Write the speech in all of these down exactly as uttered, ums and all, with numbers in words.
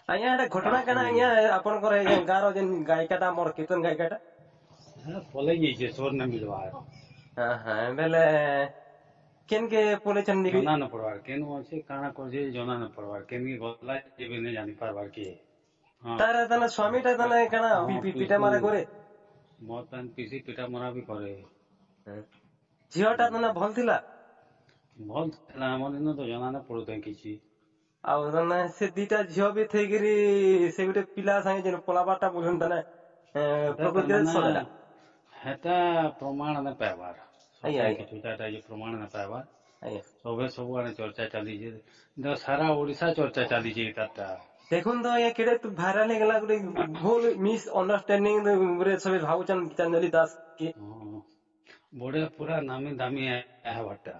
ଆଜ୍ଞା, ଏଟା ଘଟଣା କାଣା ଆଜ୍ଞା, ଆପଣଙ୍କର ଏଇ ଗାଁର ଯେନ୍ ଗାୟିକାଟା, ଆମର କୀର୍ତ୍ତନ ଗାୟିକାଟା? ହଁ, ପଲେଇ ଯାଇଛେ, ସୋର ନାଇଁ ମିଲବାର। ହଁ ହଁ ବେଲେ କେନ୍ କେ ପଲେଇଛନ୍? ଜଣା ନ ପଡବାର କେନୁ ଅଛି, କାଣା କରୁଛେ ଜଣା ନ ପଡବାର। କେନକି ଗଲା ଏବେ ନାଇଁ ଜାନି ପାରବାର କିଏ। ତାର ତାନେ ସ୍ୱାମୀଟା ତାନେ କାଣା ପିଟା ମାରା କରେ? ମଦ ପାନ ପିସି ପିଟା ମରା ବି କରେ। ଝିଅଟା ତାନେ ଭଲ ଥିଲା? ଭଲ ଥିଲା, ଆମର ଇନ ତ ଜଣା ନାଇଁ ପଡୁଥାଏ କିଛି। ଆଉ ତାନେ ସେ ଦିଟା ଝିଅ ବି ଥେଇକିରି ସେ ଗୋଟେ ପିଲା ସାଙ୍ଗେ ଯେନ୍ ପଲାବାରଟା ବୁଝୁନ୍, ତାନେ ପ୍ରକୃତିରେ ସରେଲା। ହେଟା ପ୍ରମାଣ ନାଇଁ ପାଇବାର, କିଛିଟା ପ୍ରମାଣ ନାଇଁ ପାଇବାର। ସବେ ସବୁଆଡେ ଚର୍ଚ୍ଚା ଚାଲିଛେ, ସାରା ଓଡିଶା ଚର୍ଚ୍ଚା ଚାଲିଛେ ତାରଟା। ଦେଖୁন ତ ଆଜ୍ଞା, କେଡେ ଭାଇରାଲ ହେଇଗଲା। ଗୋଟେ ଭୁଲ ମିସ୍ ଅଣ୍ଡରଷ୍ଟାଣ୍ଡିଂ ରେ ସବେ ଭାବୁଛନ୍ ଗୀତାଞ୍ଜଳି ଦାସ କି। ବଢିଆ, ପୁରା ନାମୀ ଦାମୀ ହେବାରଟା।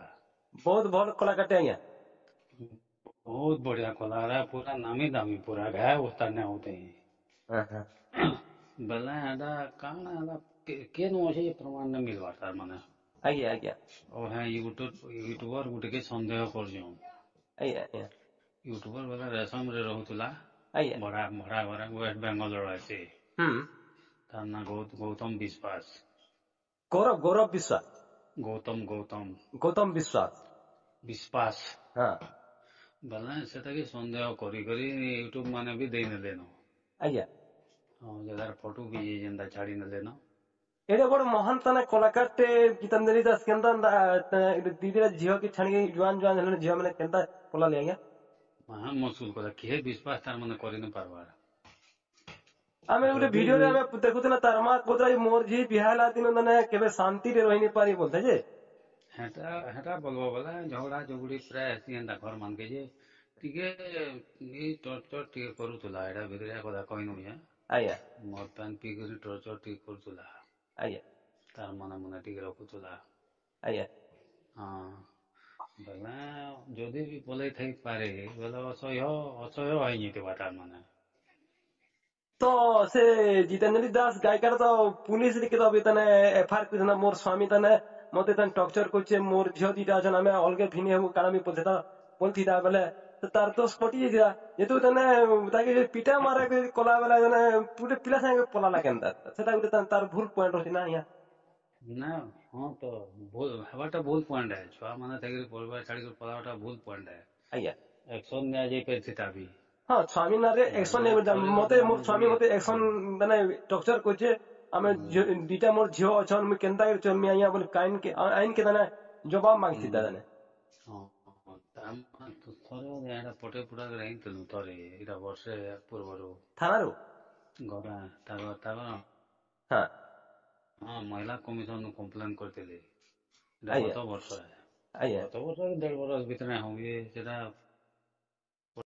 ବହୁତ ଭଲ କଳାକାରଟେ ଆଜ୍ଞା। ବହୁତ ବଢିଆ କଳାକାର, ପୁରା ନାମୀ ଦାମୀ, ପୁରା ଘା ଉସ୍ତାଦ ନାଇଁ ହଉତେ ବେଲେ ଏଟା କାଣା ହେଲା, କେନୁ ଅଛି ପ୍ରମାଣ ନାଇଁ ମିଲବାର ତାର ମାନେ। ଆଜ୍ଞା ଆଜ୍ଞା ଓ ହେ ୟୁଟ୍ୟୁବ ୟୁଟ୍ୟୁବର ଗୁଟେକେ ସନ୍ଦେହ କରୁଛନ୍। ଆଜ୍ଞା ଆଜ୍ଞା ୟୁଟ୍ୟୁବର ବେଲେ ରେଶମରେ ରହୁଥିଲା। ଆଜ୍ଞା ଭଡା ଭଡା ଘରେ, ୱେଷ୍ଟ ବେଙ୍ଗଲର ଅଛି। ହୁଁ ତାର ନାଁ ଗୌତମ ବିଶ୍ୱାସ। ଗୌରବ ଗୌରବ ବିଶ୍ୱାସ? ଗୌତମ, ଗୌତମ। ଗୌତମ ବିଶ୍ୱାସ। ବିଶ୍ୱାସ। ହଁ। ବେଲେ ସେଟାକେ ସନ୍ଦେହ କରି କରି ୟୁଟ୍ୟୁବ ମାନେ ବି ଦେଇ ନେଲେନ। ଆଜ୍ଞା ହଁ, ଯେ ତାର ଫଟୋ ବି ଯେନ୍ତା ଛାଡି ନେଲେନ। ଏଡେ ବଡ ମହାନ ତାନେ କଳାକାରଟେ ଗୀତାଞ୍ଜଳି ଦାସ କେନ୍ତା ଦି ଦିଟା ଝିଅ କି ଛାଣିକି, ଜୁଆନ ଜୁଆନ ହେଲେଣି ଝିଅ ମାନେ, କେନ୍ତା ପଲାଲେ ଆଜ୍ଞା? ମହା ମୁସ୍କିଲ କଥା, କିଏ ବିଶ୍ୱାସ ତାର ମାନେ କରି ନ ପାରବାର। ଆମେ ଗୋଟେ ଭିଡିଓରେ ଆମେ ଦେଖୁଥିଲେ, ତାର ମା କହୁଥିଲା ମୋର ଝି ବିହା ହେଲା ଦିନ ମାନେ କେବେ ଶାନ୍ତିରେ ରହିନି ପାରି ବୋଲତେ ଯେ। ହେଟା ହେଟା ବଲବ ବୋଲେ ଝଗଡା ଝଗଡି ପ୍ରାୟ ହେସି ଏନ୍ତା ଘର ମାନକେ ଯେ, ଟିକେ ଏଇ ଟର୍ଚର ଟିକେ କରୁଥିଲା। ଏଇଟା ଭିତରିଆ କଥା କହିନୁ। ଆଜ୍ଞା ମଦ ପାନ ପିଇକରି ଟର୍ଚର ଟିକେ କରୁଥିଲା। ଆଜ୍ଞା ତାର ମନେ ମନେ ଟିକେ ରଖୁଥିଲା। ଆଜ୍ଞା ହଁ, ବେଲେ ଯଦି ବି ପଲେଇ ଥାଇପାରେ ବେଲେ ଅସହ୍ୟ ଅସହ୍ୟ ହେଇଯାଇଥିବା ତାର ମାନେ। ତ ସେ ଜିତେନ୍ଦ୍ର ଦାସ ଗାୟିକାର ତ ପୁଲିସ ଟିକେ ତ ତାନେ ଏଫଆଇଆର କରିଥିଲା, ମୋର ସ୍ୱାମୀ ତାନେ ମତେ ତାନେ ଟର୍ଚର କରୁଛେ, ମୋର ଝିଅ ଦିଟା ଅଛନ୍, ଆମେ ଅଲଗା ଭିନି ହେବୁ, କାଣା ବି ବୋଲତା ବୋଲଥିଲା ବେଲେ ତାର ଦୋଷ କଟି ଯାଇଥିଲା। ଯେହେତୁ ତାନେ ତାକେ ପିଟା ମାରା କଲା ବେଲେ ତାନେ ଗୋଟେ ପିଲା ସାଙ୍ଗେ ପଲାଲା କେନ୍ତା, ସେଟା ଗୋଟେ ତାର ଭୁଲ ପଏଣ୍ଟ ଅଛି ନା ଆଜ୍ଞା? ନା, ହଁ ତ, ଭୁଲ ହେବାଟା ଭୁଲ ପଏଣ୍ଟ ହେ। ଛୁଆ ମାନେ থাকিରି ପରିବାର ଛାଡିକି ପଲାବାଟା ଭୁଲ ପଏଣ୍ଟ ହେ। ଆଜ୍ଞା ଆକ୍ସନ ନିଆଯାଇ ପାରିଥିତା ବି। ହଁ, ସ୍ୱାମୀ ନାଁରେ ଆକ୍ସନ ମତେ ମୋର ସ୍ୱାମୀ ମତେ ଆକ୍ସନ ମାନେ ଟର୍ଚର କରୁଛେ, ଆମେ ଦିଟା ମୋର ଝିଅ ଅଛନ୍, ମୁଇଁ କେନ୍ତା କରି ଚଲମି ଆଜ୍ଞା ବୋଲି ଆଇନ କେ ଆଇନ କେ ତାନେ ଜବାବ ମାଗିଥିଲା ତାନେ। ହଁ, ଥରେ ଏଇଟା ପଟେ ପୁଟା ହେଇଥିଲୁ ଥରେ, ଏଇଟା ବର୍ଷେ ପୂର୍ବରୁ। ଥାନାରୁ? ଘରେ ତାର ତାର ହଁ ହଁ, ମହିଳା କମିଶନ କମ୍ପ୍ଲେନ କରିଥିଲି। ଏଇଟା ଗତ ବର୍ଷ, ଆଜ୍ଞା ଗତ ବର୍ଷ ଦେଢ ବର୍ଷ ଭିତରେ ହଉ ସେଟା।